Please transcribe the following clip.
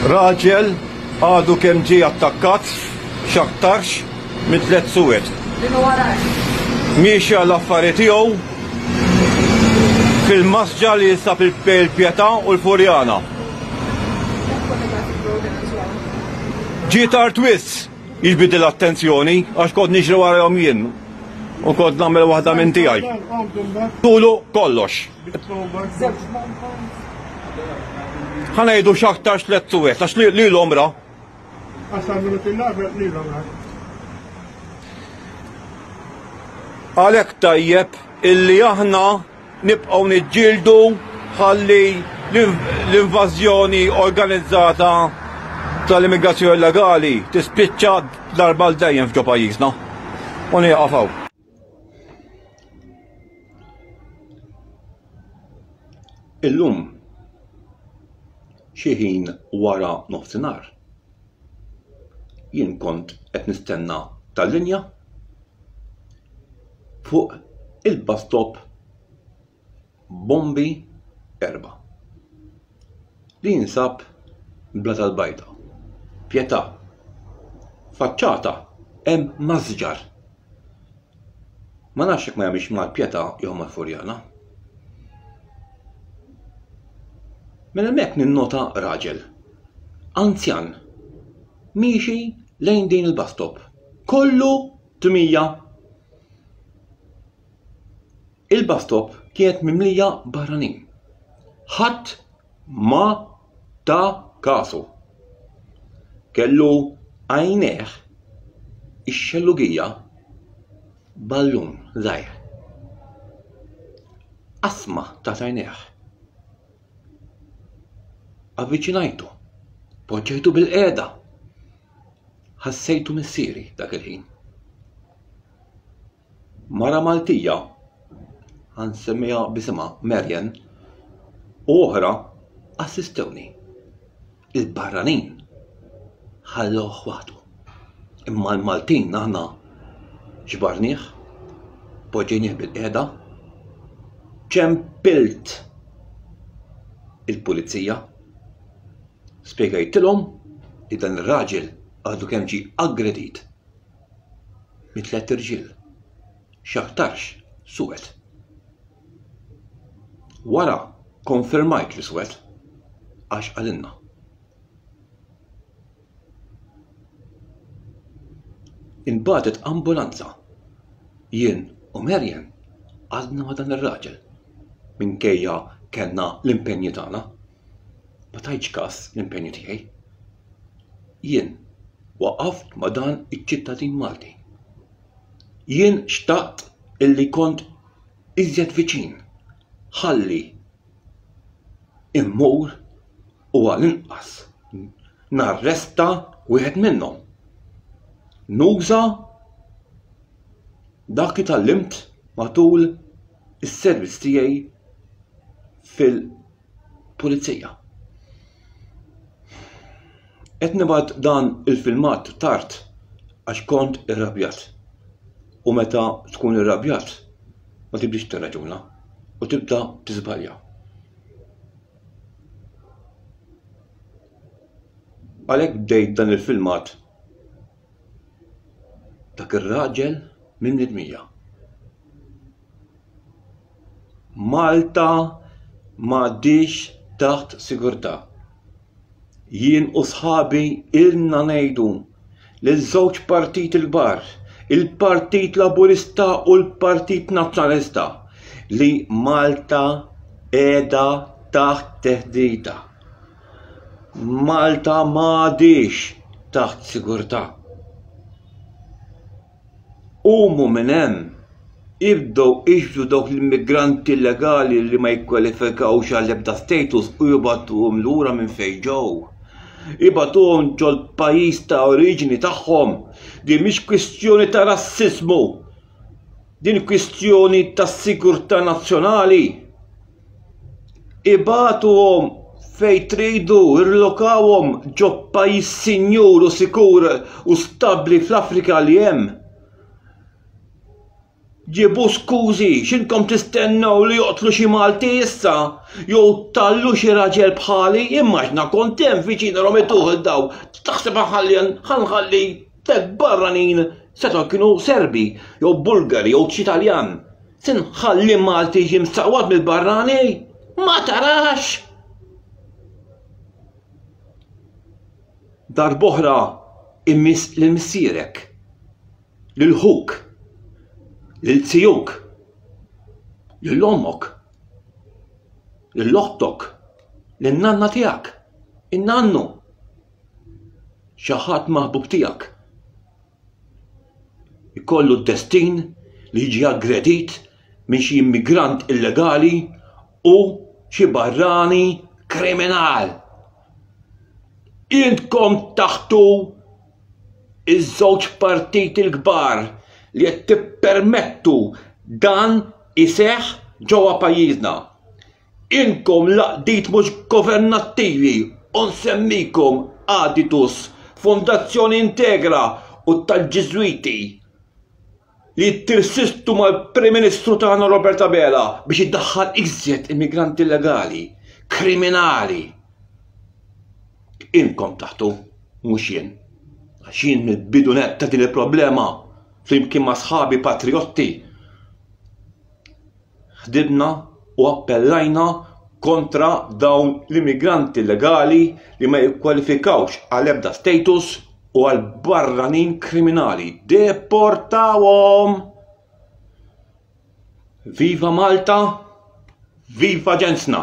Raġel għadu kemm ġie attakkat x'aktarx minn tlett suwed. Miexi għall-affari tiegħu fil-masġa li jinsab il-Pietà u l-Furjana. Ġie tard wisq jiġbidli l-attenzjoni għax kont niġri warahom jien u kont nagħmel waħda minn tiegħi. Tulu kollox. Ħa ngħidu x'aktarx tlett suwed għax lilhom ra. Għalhekk tajjeb illi aħna nibqgħu niġġieldu ħalli l-invażjoni organizzata tal-immigrazzjoni illegali tispiċċa darba għal dejjem f'ġo pajjiżna. U nieqaf hawn. Illum xi ħin wara nofsinhar jien kont qed nistenna tal-linja fuq il-bus stop Bombi 4 li jinsab Bla tal-Bajda, Pietà. Faċċata hemm masġar. Ma nafx jekk ma jagħmilx mal-Pietà jew mal-Furjana. Minn hemmhekk ninnota raġel anzjan miexi lejn din il-bus stop. Kollu tmija. Il-bus stop kienet mimlija barranin. Ħadd ma ta kasu. Kellu għajnejh ix-xellugija ballun żgħir. Qasma ta' għajnejh. Avviċinajtu, poġġejtu bil-qiegħda. Ħassejtu missieri dak il-ħin. Mara Maltija, ħa nsemmiha b'isimha Marian, u oħra assistewni. Il-barranin ħallewh waħdu. Imma l-Maltin aħna ġbarnieh, poġġejnieh bil-qiegħda, ċempilt il-pulizija, spjegajtilhom li dan ir-raġel għadu kemm ġie aggredit minn tlett irġiel, x'aktarx suwed. Wara konfermajt li suwed għax qalilna. Inbagħtet ambulanza. Jien u Marian għadna ma' dan ir-raġel minkejja kellna l-impenji tagħna. Ma tajtx kas l-impenji tiegħi. Jien waqaft ma' dan iċ-ċittadin Malti. Jien xtaqt illi kont iżjed viċin ħalli immur u għall-inqas narresta wieħed minnhom. Nuża dak li tgħallimt matul is-servizz tiegħi fil-pulizija. Qed nibgħat dan il-filmat tard għax kont irrabjat. U meta tkun irrabjat ma tibdix tirraġuna u tibda tiżbalja. Għalhekk bdejt dan il-filmat dak ir-raġel minn nidmija. Malta m'għadhiex taħt sigurtà. Jien u sħabi ilna ngħidu liż-żewġ partiti l-kbar, il-Partit Laburista u l-Partit Nazzjonalista, li Malta qiegħda taħt tehdida. Malta m'għadhiex taħt sigurtà. Qumu minn hemm, ibdew iġbdu dawk l-immigranti illegali li ma jikkwalifikawx għal ebda status u jibgħatuhom lura minn fejn ġew. Ibagħtuhom ġol-pajjiż ta' oriġini tagħhom. Din mhix kwistjoni ta' rassiżmu. Din kwistjoni ta' sigurtà nazzjonali. Ibagħtuhom fejn tridu, irlokawhom ġo pajjiż sinjur u sikur u stabbli fl-Afrika li hemm. Ġibu skużi, x'intom tistennew li joqtlu xi Malti issa? Jew tallu xi raġel bħali, immaġna kont hemm viċin romituh il daw. Taħseb ħalli ħanħalli tek barranin setgħu kienu Serbi jew Bulgari jew xi Taljan. Se nħalli Malti jiġi msaqwad mill-barrani? Ma tarax! Darb'oħra immiss lil missierek. Lil ħuk, lil zijuk, lil ommok, lil oħtok, lin nanna tiegħek, in-nannu, xi ħadd maħbub tiegħek. Ikollu d-destin li jiġi aggredit minn xi immigrant illegali u xi barrani kriminal. Intkom taħtu iż-żewġ partiti l-kbar li qed tippermettu dan iseħħ ġewwa pajjiżna. Inkom l-għaqdiet mhux governattivi u nsemmikom Aditus, Fondazzjoni Integra u tal-Ġiżwiti li tirsistu mal-Prim Ministru tagħna Robert Abela biex iddaħħal iżjed immigranti illegali, kriminali. Inkom taħtu, mhux jien. Għax jien mill-bidu nett ta' din il-problema flimkien ma' sħabi patriotti ħdibna u appellajna kontra dawn l-immigranti illegali li ma jikkwalifikawx għal ebda status u għal barranin kriminali. Deportawhom! Viva Malta! Viva ġensna!